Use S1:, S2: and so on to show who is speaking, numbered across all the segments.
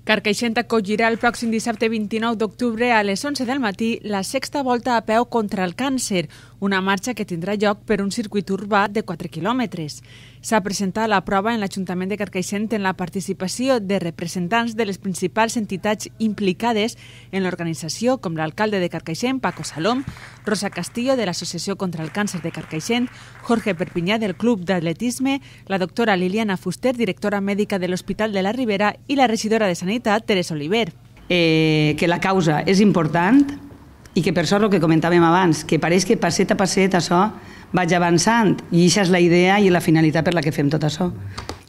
S1: Carcaixent acollirà el pròxim dissabte 29 d'octubre a les 11 del matí la sexta volta a peu contra el càncer, una marxa que tindrà lloc per un circuit urbà de 4 quilòmetres. S'ha presentat la prova en l'Ajuntament de Carcaixent en la participació de representants de les principals entitats implicades en l'organització, com l'alcalde de Carcaixent, Paco Salom, Rosa Castillo, de l'Associació contra el Càncer de Carcaixent, Jorge Perpinyà, del Club d'Atletisme, la doctora Liliana Fuster, directora mèdica de l'Hospital de la Ribera, i la regidora de Sanitat, Teresa Oliver.
S2: Que la causa és important i que per això el que comentàvem abans, que pareix que passet a passet això vaig avançant i això és la idea i la finalitat per la que fem tot això.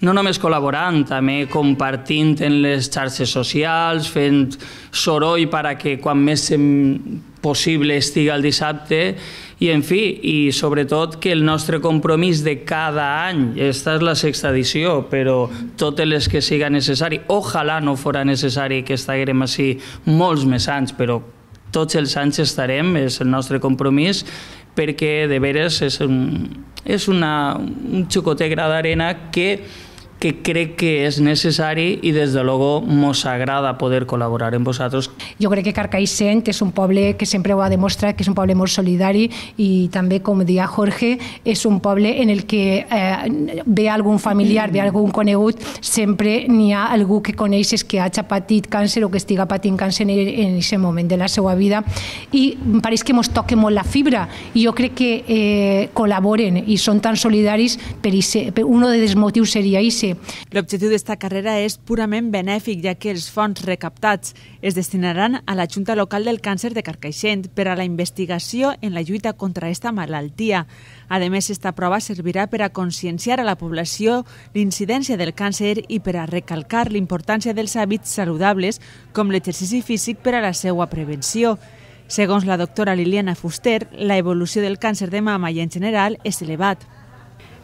S3: No només col·laborant, també compartint en les xarxes socials, fent soroll perquè quan més possible estigui el dissabte i, en fi, i sobretot que el nostre compromís de cada any, esta és la sexta edició, però totes les que siga necessari, ojalà no fora necessari que estiguem així molts més anys, però tots els anys estarem, és el nostre compromís, perquè de veres és un xocotet gra d'arena que crec que és necessari i des de luego mos agrada poder col·laborar amb vosaltres.
S4: Jo crec que Carcaixent és un poble que sempre ho ha demostrat, que és un poble molt solidari i també, com deia Jorge, és un poble en el que ve algun familiar, ve algun conegut, sempre n'hi ha algú que coneixes que hagi patit càncer o que estiga patint càncer en aquest moment de la seva vida i em pareix que mos toca molt la fibra i jo crec que col·laboren i són tan solidaris per un dels motius seria aquest.
S1: L'objectiu d'esta carrera és purament benèfic, ja que els fons recaptats es destinaran a la Junta Local del Càncer de Carcaixent per a la investigació en la lluita contra aquesta malaltia. A més, esta prova servirà per a conscienciar a la població l'incidència del càncer i per a recalcar l'importància dels hàbits saludables com l'exercici físic per a la seva prevenció. Segons la doctora Liliana Fuster, la evolució del càncer de mama i en general és elevat.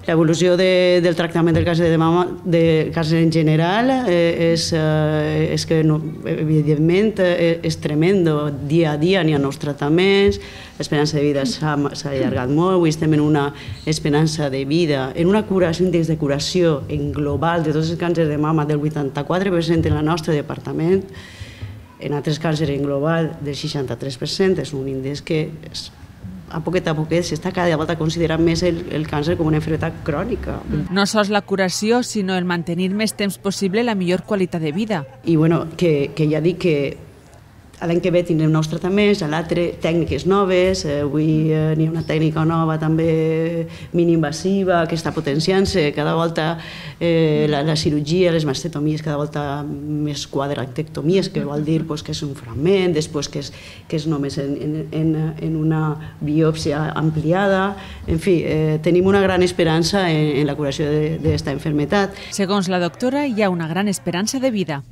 S5: L'evolució del tractament del càncer de mama, del càncer en general, és que evidentment és tremendo. Dia a dia n'hi ha nous tractaments, l'esperança de vida s'ha allargat molt, avui estem en una esperança de vida, en una curació, índex de curació en global de tots els càncers de mama del 84% en el nostre departament, en altres càncers en global del 63%, és un índex que a poquet s'està cada volta considerant més el càncer com una malaltia crònica.
S1: No sols la curació, sinó el mantenir més temps possible la millor qualitat de vida.
S5: I que ja dic que l'any que ve tindrem nous tractaments, l'altre tècniques noves, avui n'hi ha una tècnica nova també mini-invasiva que està potenciant-se cada volta la cirurgia, les mastectomies, cada volta més quadrantectomies, que vol dir que és un fragment, després que és només en una biòpsia ampliada. En fi, tenim una gran esperança en la curació d'aquesta malaltia.
S1: Segons la doctora, hi ha una gran esperança de vida.